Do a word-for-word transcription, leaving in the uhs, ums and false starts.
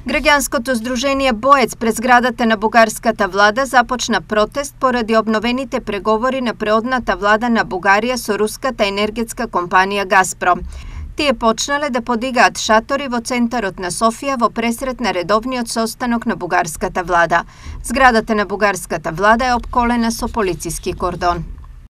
Граѓанското здружение Боец пред зградата на бугарската влада започна протест поради обновените преговори на преодната влада на Бугарија со руската енергетска компанија Газпром. Тие почнале да подигаат шатори во центарот на Софија во пресрет на редовниот состанок на бугарската влада. Зградата на бугарската влада е опколена со полициски кордон.